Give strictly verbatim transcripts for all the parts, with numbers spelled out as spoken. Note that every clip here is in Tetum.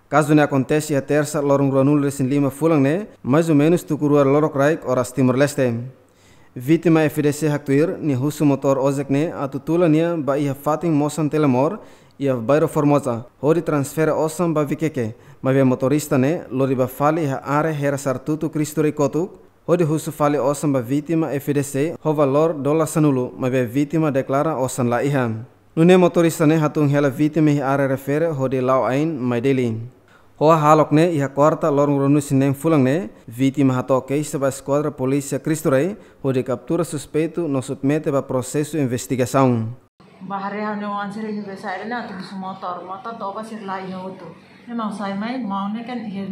Kazu ne'e akontese iha Tersa loron ruanulu-resin-lima fulan ne'e, mais ou menus tuku rua lorokraik oras Timor-Leste. Vítima F D C haktuir, nia husu motór ojek ne'e atu tula nia ba iha fatin Mosan Telemor, iha bairru Formosa, hodi transfere osan ba Vikeke, maibé motorista ne'e lori ba fali iha área Hera Sartutu Cristo Rei kotuk, hodi husu fali osan ba vítima F D C ho valór dolar sanulu, maibé vítima deklara osan la iha. Nune'e motorista ne'e hatún hela vítima iha área refere hodi la'o ain mai Dili. Ho hahalok ne'e, iha Kuarta loron ruanulu-resin-neen fulan ne'e, vítima hato'o keixa ba Eskuadra Polísia Cristo Rei hodi kaptura suspeitu no submete ba prosesu investigasaun. Ba haree ha'u-nia oan sira iha be saida ne'e atu husu motór, motór toba sira la iha hotu. Ne'e maun sai mai, maun ne'e kan iha,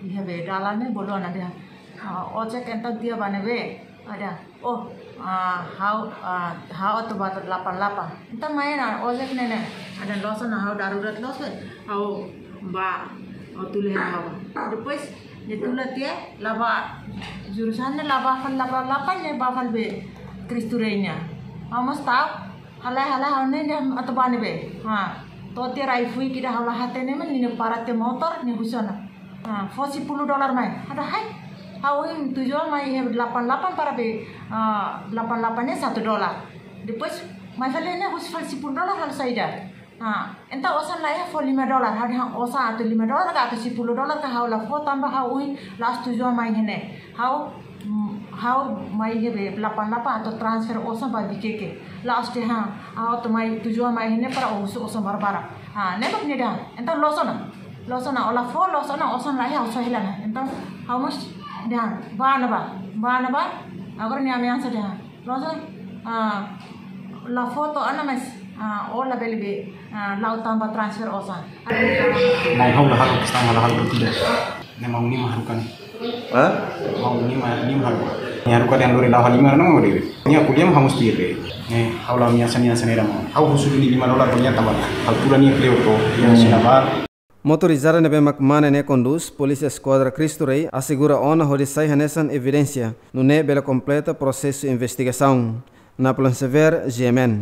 iha be dalan ne'e bolu ona dehan. Ah, ojek entaun tiha ba ne'ebé? Ada. Oh, ah, ha'u, ah, ha'u atu ba delapan delapan. Entaun mai ona ojek ne'e ne'e. Ada loos ona ha'u darurat loos be. Ha'u ba, ha'u tula hela ha'u. Depois, nia tula tiha, la ba jurusan ne'e la ba fali delapan delapan, nia ba fali be Cristo Rei nian. Ha'u mós ta'uk, halai, halai, ha'u ne'e dehan atu ba ne'ebé. Ha, to'o tiha rai-fuik ida ha'u la hatene mak nia para tiha motór, nia husu ona. Ha, fó sepuluh dolar mai. Ha'u dehan, hai. Ha'u ohin tujuan mai iha delapan delapan para be, ah, delapan delapan ne'e satu dolar. Depois, mai fali ne'e husu fali sepuluh dolar halo saida. Ha, entaun osan la iha, fó lima dolar. Ha'u dehan osan atu lima dolar ka atu sepuluh dolar ka ha'u la fó tanba ha'u ohin la'ós tujuan mai iha ne'e. Ha'u, mm, ha'u mai iha be delapan delapan atu transfer osan ba Vikeke. La'ós dehan, ha'u atu mai tujuan mai iha ne'e para husu osan barbarak. Ha, ne'e mak nia dehan. Entaun loos ona. Loos ona, ó la fó, loos ona, osan la iha, ha'u soe hela ona. Entaun, ha'u mós dehan, ba ona ba, ba ona ba. Agora nia ameasa dehan. Loos ona, ah, la fó to'o ona mais, ah, ó labele be, ah, la'o tan ba transfer osan. Maun, ha'u la haruka, kestaun ha'u la haruka tidak. Ne'e maun nia mak haruka ne'e. Hah? Maun nia mak, nia mak haruka. Nia haruka dehan lori la'o halimar ona maun dehan. Nia ko'alia mak ha'u mós tuir de'it. Ne'e, ha'u la ameasa nia hanesan ne'e de'it maun. Ha'u husu duni lima dolar ba nia tanba ha'u tula nia kleur to'o, nia Hmm. sina bar. Motorizada ne'ebé mak mane ne'e kondús, Polísia Eskuadra Cristo Rei asegura ona hodi sai hanesan evidénsia, nune'e bele kompleta prosesu investigasaun. Napoleon Xavier, G M N.